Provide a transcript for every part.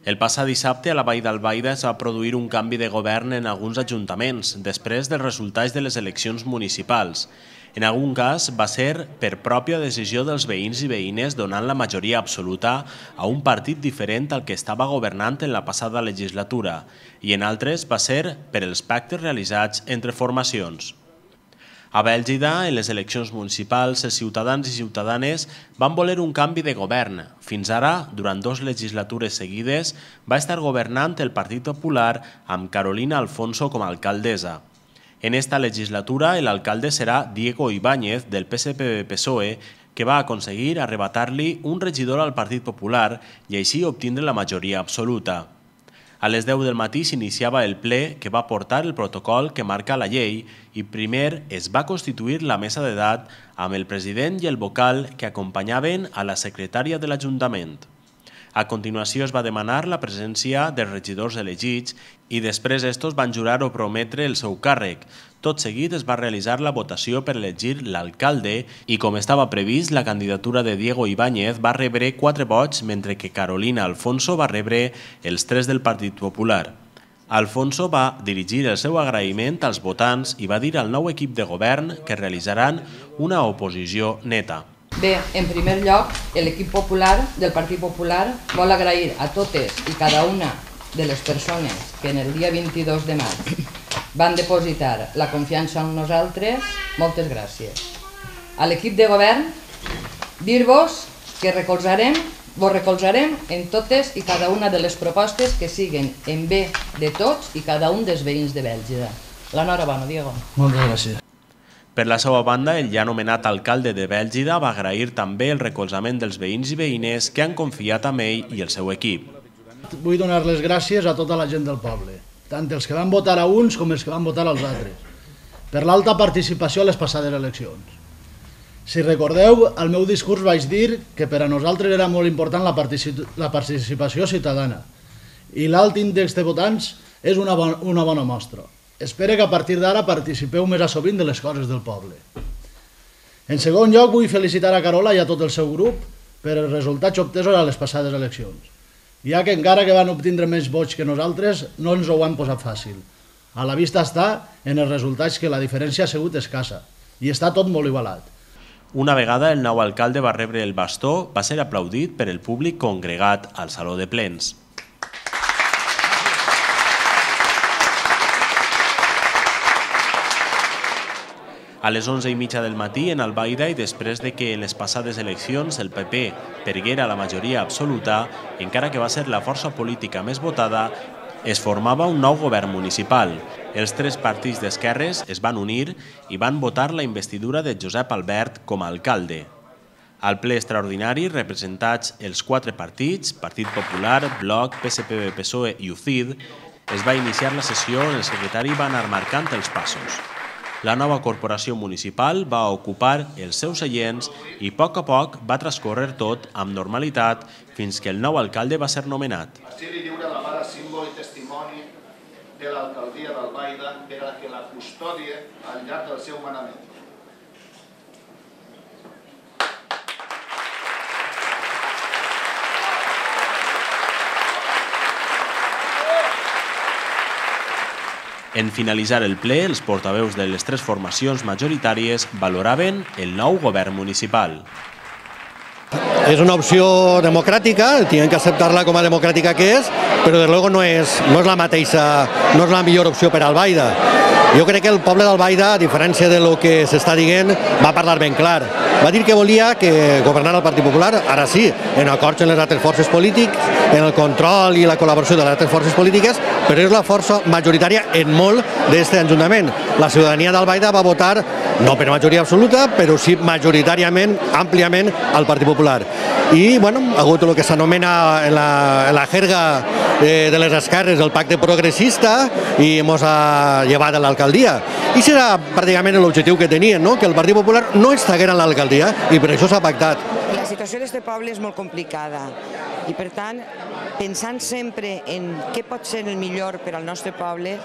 El passat dissabte a la Vall d'Albaida es va produir un canvi de govern en alguns ajuntaments després dels resultats de les eleccions municipals. En algun cas va ser per pròpia decisió dels veïns i veïnes donant la majoria absoluta a un partit diferent al que estava governant en la passada legislatura i en altres va ser per els pactes realitzats entre formacions. A Bèlgida, en les eleccions municipals, els ciutadans i ciutadanes van voler un canvi de govern. Fins ara, durant 2 legislatures seguides, va estar governant el Partit Popular amb Carolina Alfonso com a alcaldessa. En esta legislatura, l'alcalde serà Diego Ibáñez, del PSPB-PSOE, que va aconseguir arrebatar-li un regidor al Partit Popular i així obtindre la majoria absoluta. A les 10 del matí s'iniciava el ple que va portar el protocol que marca la llei i primer es va constituir la mesa d'edat amb el president i el vocal que acompanyaven a la secretària de l'Ajuntament. A continuació es va demanar la presència dels regidors elegits i després estos van jurar o prometre el seu càrrec. Tot seguit es va realitzar la votació per elegir l'alcalde i, com estava previst, la candidatura de Diego Ibáñez va rebre 4 vots, mentre que Carolina Alfonso va rebre els 3 del Partit Popular. Alfonso va dirigir el seu agraïment als votants i va dir al nou equip de govern que realitzaran una oposició neta. Bé, en primer lloc, l'equip popular del Partit Popular vol agrair a totes i cada una de les persones que en el dia 22 de maig van depositar la confiança en nosaltres, moltes gràcies. A l'equip de govern, dir-vos que vos recolzarem en totes i cada una de les propostes que siguen en bé de tots i cada un dels veïns de Bèlgida. L'enhorabona, Diego. Moltes gràcies. Per la seva banda, el ja anomenat alcalde de Bèlgida va agrair també el recolzament dels veïns i veïnes que han confiat en ell i el seu equip. Vull donar les gràcies a tota la gent del poble, tant els que van votar a uns com els que van votar als altres, per l'alta participació a les passades eleccions. Si recordeu, al meu discurs vaig dir que per a nosaltres era molt important la participació ciutadana i l'alt índex de votants és una bona mostra. Espero que a partir d'ara participeu més a sovint de les coses del poble. En segon lloc, vull felicitar a Carola i a tot el seu grup per els resultats obtesos a les passades eleccions, ja que encara que van obtindre més vots que nosaltres, no ens ho han posat fàcil. A la vista està en els resultats que la diferència ha sigut escassa i està tot molt igualat. Una vegada el nou alcalde va rebre el bastó, va ser aplaudit per el públic congregat al Saló de Plens. A les 11:30 del matí, en Albaida, i després de que en les passades eleccions el PP perguera la majoria absoluta, encara que va ser la força política més votada, es formava un nou govern municipal. Els 3 partits d'esquerres es van unir i van votar la investidura de Josep Albert com a alcalde. Al ple extraordinari, representats els 4 partits, Partit Popular, Bloc, PSPB-PSOE i UCID, es va iniciar la sessió on el secretari va anar marcant els passos. La nova corporació municipal va ocupar els seus seients i a poc va transcorrer tot amb normalitat fins que el nou alcalde va ser nomenat. Així li lliura la mare símbol i testimoni de l'alcaldia d'Albaida per a que la custòdia al llarg del seu manament. En finalitzar el ple, els portaveus de les 3 formacions majoritàries valoraven el nou govern municipal. És una opció democràtica, tienen que acceptar-la com a democràtica que és, però de luego no és la mateixa, no és la millor opció per a Albaida. Jo crec que el poble d'Albaida, a diferència del que s'està dient, va parlar ben clar. Va dir que volia que governara el Partit Popular, ara sí, en acords amb les altres forces polítiques, en el control i la col·laboració de les altres forces polítiques, però és la força majoritària en molt d'aquest ajuntament. La ciutadania d'Albaida va votar, no per majoria absoluta, però sí majoritàriament, àmpliament, al Partit Popular. I, bueno, ha hagut el que s'anomena en la jerga de les esquerres el pacte progressista i ens ha llevat a l'alcaldia. I serà pràcticament l'objectiu que tenien, que el Partit Popular no estaguera en l'alcaldia i per això s'ha pactat. La situació d'aquest poble és molt complicada i, per tant, pensant sempre en què pot ser el millor per al nostre poble,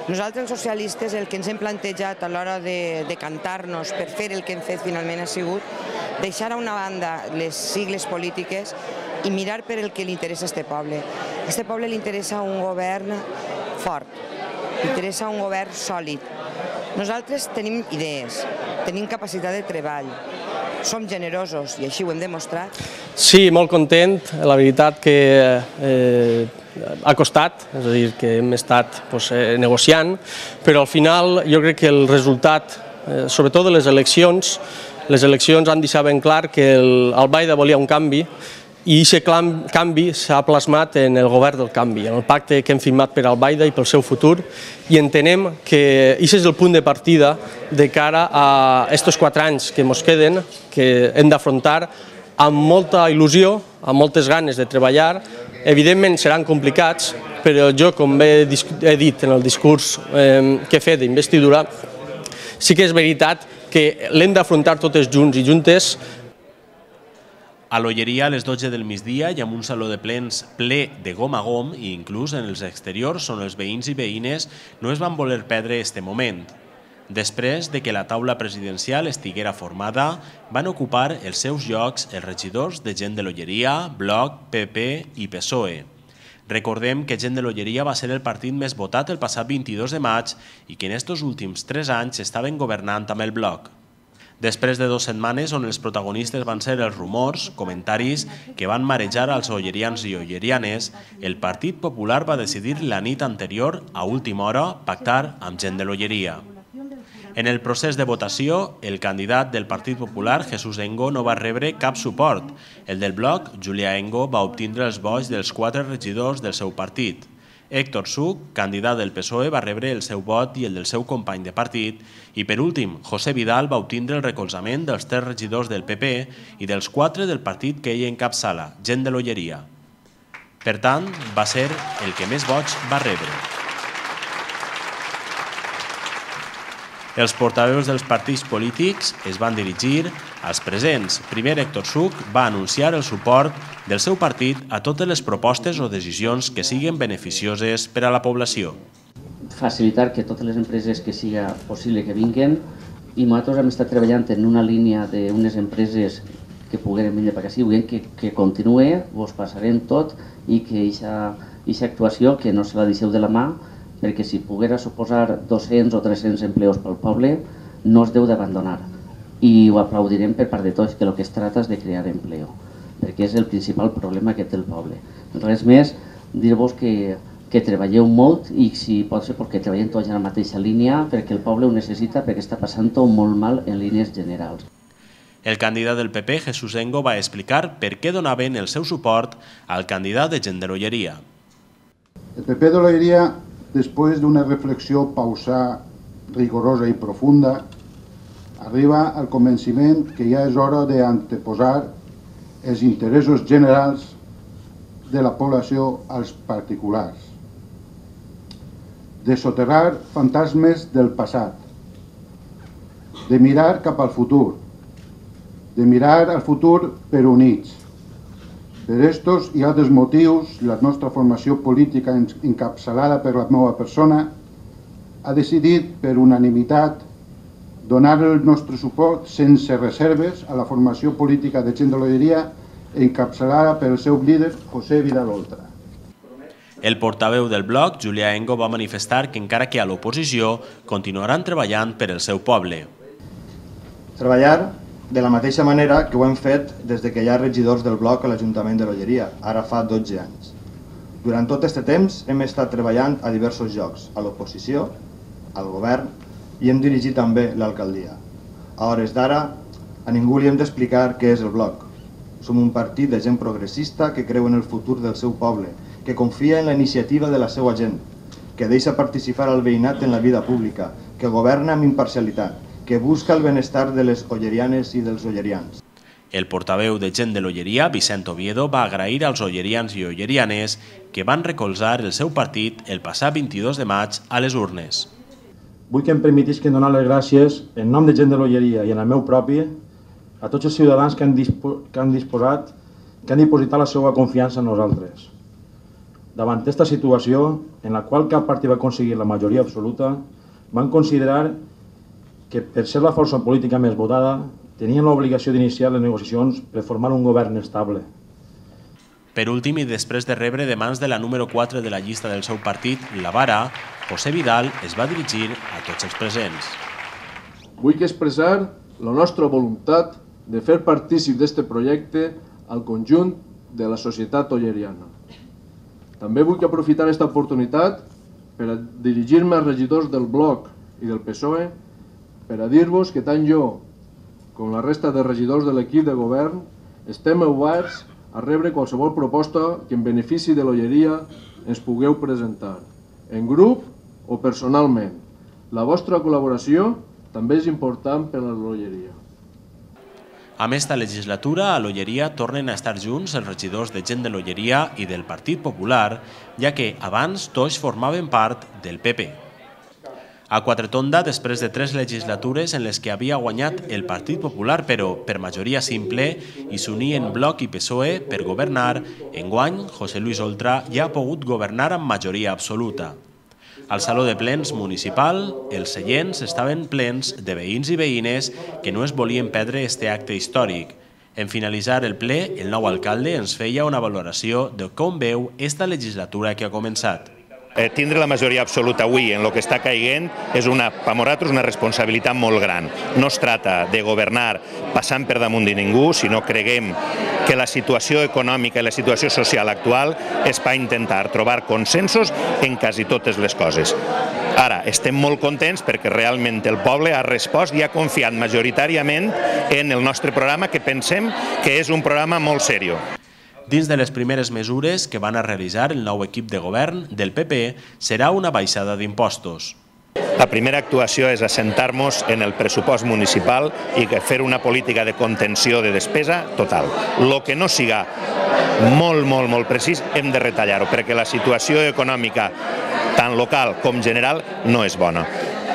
nosaltres els socialistes el que ens hem plantejat a l'hora de decantar-nos per fer el que hem fet finalment ha sigut deixar a una banda les sigles polítiques i mirar per el que li interessa a este poble. A este poble li interessa un govern fort, li interessa un govern sòlid. Nosaltres tenim idees, tenim capacitat de treball, som generosos i així ho hem demostrat. Sí, molt content. La veritat que ha costat, és a dir, que hem estat negociant, però al final jo crec que el resultat, sobretot de les eleccions han deixat ben clar que el Baida volia un canvi i aquest canvi s'ha plasmat en el govern del canvi, en el pacte que hem firmat per al Baida i pel seu futur, i entenem que aquest és el punt de partida de cara a aquests 4 anys que ens queden, que hem d'afrontar amb molta il·lusió, amb moltes ganes de treballar. Evidentment seran complicats, però jo, com he dit en el discurs que he fet d'investidura, sí que és veritat que l'hem d'afrontar totes junts i juntes. A l'Olleria a les 12 del migdia i amb un saló de plens ple de gom a gom i inclús en els exteriors on els veïns i veïnes no es van voler perdre este moment. Després de que la taula presidencial estiguera formada, van ocupar els seus llocs els regidors de Gent de l'Olleria, Bloc, PP i PSOE. Recordem que Gent de l'Olleria va ser el partit més votat el passat 22 de maig i que en estos últims 3 anys estaven governant amb el Bloc. Després de 2 setmanes on els protagonistes van ser els rumors, comentaris que van marejar als ollerians i ollerianes, el Partit Popular va decidir la nit anterior, a última hora, pactar amb Gent de l'Olleria. En el procés de votació, el candidat del Partit Popular, Jesús Engo, no va rebre cap suport. El del Bloc, Julià Engo, va obtindre els vots dels 4 regidors del seu partit. Héctor Such, candidat del PSOE, va rebre el seu vot i el del seu company de partit, i per últim, José Vidal va obtindre el recolzament dels 3 regidors del PP i dels 4 del partit que ell encapçala, Gent de l'Olleria. Per tant, va ser el que més vots va rebre. Els portaveus dels partits polítics es van dirigir als presents. Primer, Héctor Such va anunciar el suport del seu partit a totes les propostes o decisions que siguin beneficioses per a la població. Facilitar que totes les empreses que siga possible que vinguin, i nosaltres hem estat treballant en una línia d'unes empreses que pogueren venir per aquí, que continuï, vos passarem tot i que aquesta actuació que no se la deixeu de la mà, perquè si poguera suposar 200 o 300 empleos pel poble, no es deu d'abandonar. I ho aplaudirem per part de tots, que el que es tracta és de crear empleo, perquè és el principal problema que té el poble. Res més, dir-vos que treballeu molt i si pot ser perquè treballem tots en la mateixa línia, perquè el poble ho necessita, perquè està passant-ho molt mal en línies generals. El candidat del PP, Jesús Engo, va explicar per què donaven el seu suport al candidat de Gent de l'Olleria. El PP de l'Olleria, després d'una reflexió pausada, rigorosa i profunda, arriba al convenciment que ja és hora d'anteposar els interessos generals de la població als particulars, de soterrar fantasmes del passat, de mirar cap al futur, de mirar al futur per units. Per estos i altres motius, la nostra formació política encapçalada per la meva persona ha decidit per unanimitat donar el nostre suport sense reserves a la formació política de Gent de l'Olleria encapçalada pel seu líder, José Vidal Oltra. El portaveu del Bloc, Julià Engo, va manifestar que encara que a l'oposició continuaran treballant per al seu poble. Treballar de la mateixa manera que ho hem fet des que hi ha regidors del Bloc a l'Ajuntament de l'Olleria, ara fa 12 anys. Durant tot aquest temps hem estat treballant a diversos llocs, a l'oposició, al govern, i hem dirigit també l'alcaldia. A hores d'ara, a ningú li hem d'explicar què és el Bloc. Som un partit de gent progressista que creu en el futur del seu poble, que confia en la iniciativa de la seva gent, que deixa participar al veïnat en la vida pública, que governa amb imparcialitat, que busca el benestar de les ollerianes i dels ollerians. El portaveu de Gent de l'Olleria, Vicent Oviedo, va agrair als ollerians i ollerianes que van recolzar el seu partit el passat 22 de maig a les urnes. Vull que em permetisquen donar les gràcies en nom de Gent de l'Olleria i en el meu propi a tots els ciutadans que han dipositat la seva confiança en nosaltres. Davant aquesta situació, en la qual cap partit va aconseguir la majoria absoluta, van considerar que per ser la força política més votada tenien l'obligació d'iniciar les negociacions per formar un govern estable. Per últim, i després de rebre de mans de la número 4 de la llista del seu partit, la Vara, José Vidal es va dirigir a tots els presents. Vull expressar la nostra voluntat de fer partícip d'este projecte al conjunt de la societat olleriana. També vull aprofitar aquesta oportunitat per a dirigir-me als regidors del Bloc i del PSOE per a dir-vos que tant jo com la resta de regidors de l'equip de govern estem oberts a rebre qualsevol proposta que en benefici de l'Olleria ens pugueu presentar, en grup o personalment. La vostra col·laboració també és important per a l'Olleria. Amb esta legislatura, a l'Olleria tornen a estar junts els regidors de Gent de l'Olleria i del Partit Popular, ja que abans tots formaven part del PP. A Quatretonda, després de 3 legislatures en les que havia guanyat el Partit Popular, però per majoria simple, i s'unien Bloc i PSOE per governar, enguany José Luis Oltra ja ha pogut governar amb majoria absoluta. Al Saló de Plens municipal, els seients estaven plens de veïns i veïnes que no es volien perdre este acte històric. En finalitzar el ple, el nou alcalde ens feia una valoració de com veu esta legislatura que ha començat. Tindre la majoria absoluta avui en el que està caient és per nosaltres una responsabilitat molt gran. No es tracta de governar passant per damunt de ningú, sinó creguem que la situació econòmica i la situació social actual és per intentar trobar consensos en quasi totes les coses. Ara, estem molt contents perquè realment el poble ha respost i ha confiat majoritàriament en el nostre programa, que pensem que és un programa molt seriós. Dins de les primeres mesures que van a realitzar el nou equip de govern del PP serà una baixada d'impostos. La primera actuació és assentar-nos en el pressupost municipal i fer una política de contenció de despesa total. El que no siga molt precís hem de retallar-ho, perquè la situació econòmica, tant local com general, no és bona.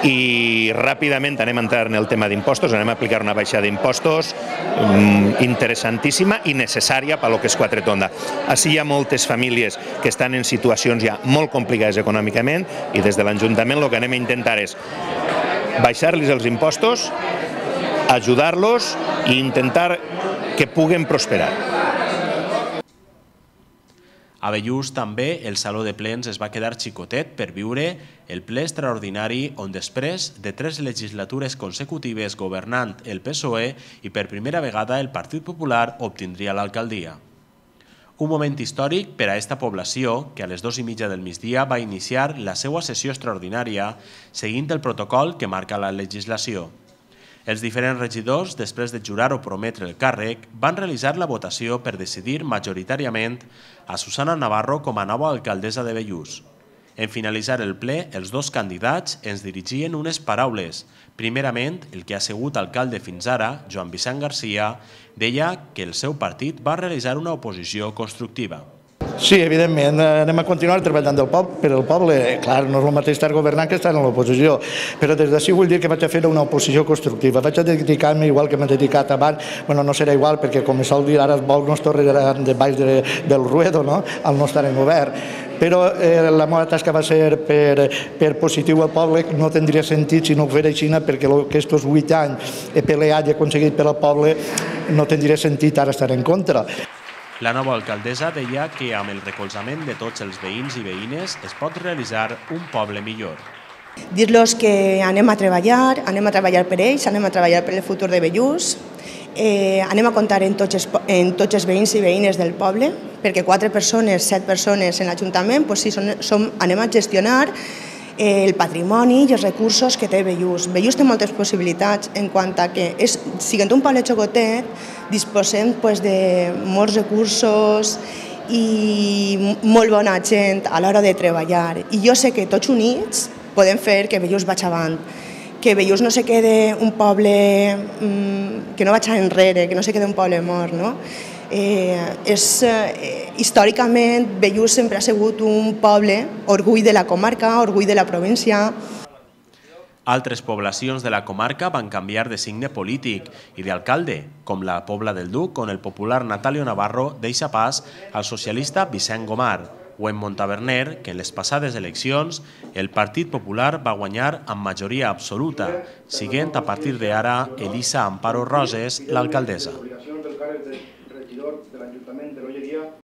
I ràpidament anem a entrar en el tema d'impostos, anem a aplicar una baixada d'impostos interessantíssima i necessària per al que és Quatretonda. Així hi ha moltes famílies que estan en situacions ja molt complicades econòmicament i des de l'Ajuntament el que anem a intentar és baixar-los els impostos, ajudar-los i intentar que puguen prosperar. A Bellús també el Saló de Plens es va quedar xicotet per viure el ple extraordinari on després de 3 legislatures consecutives governant el PSOE i per primera vegada el Partit Popular obtindria l'alcaldia. Un moment històric per a esta població que a les 2:30 del migdia va iniciar la seva sessió extraordinària seguint el protocol que marca la legislació. Els diferents regidors, després de jurar o prometre el càrrec, van realitzar la votació per decidir majoritàriament a Susana Navarro com a nova alcaldessa de Bellús. En finalitzar el ple, els 2 candidats ens dirigien unes paraules. Primerament, el que ha sigut alcalde fins ara, Joan Vicent Garcia, deia que el seu partit va realitzar una oposició constructiva. Sí, evidentment, anem a continuar treballant per al poble. Clar, no és el mateix estar governant que estar en l'oposició, però des d'ací vull dir que vaig a fer una oposició constructiva. Vaig a dedicar-me igual que m'he dedicat abans, bueno, no serà igual perquè, com sol dir, ara els vols no es tornaran de baix del ruedo, no?, al no estar en govern. Però la meva tasca va ser per positiu al poble, no tindria sentit si no ho fera així, perquè aquests 8 anys he peleat i he aconseguit per al poble, no tindria sentit ara estar en contra. La nova alcaldessa deia que amb el recolzament de tots els veïns i veïnes es pot realitzar un poble millor. Dir-los que anem a treballar per ells, anem a treballar per el futur de Bellús, anem a comptar en tots els veïns i veïnes del poble, perquè 4 persones, 7 persones en l'Ajuntament, sí, anem a gestionar el patrimoni i els recursos que té Bellús. Bellús té moltes possibilitats en quant a que, siguent un poble xocotet, disposem de molts recursos i molt bona gent a l'hora de treballar. I jo sé que tots units podem fer que Bellús vagi avant, que Bellús no se quede un poble que no vagi enrere, que no se quede un poble mort, no? Històricament, Bellús sempre ha sigut un poble, orgull de la comarca, orgull de la província. Altres poblacions de la comarca van canviar de signe polític i d'alcalde, com la Pobla del Duc, on el popular Natalio Navarro deixa pas al socialista Vicent Gomar, o en Montaverner, que en les passades eleccions el Partit Popular va guanyar amb majoria absoluta, siguent a partir d'ara Elisa Amparo Roses l'alcaldessa.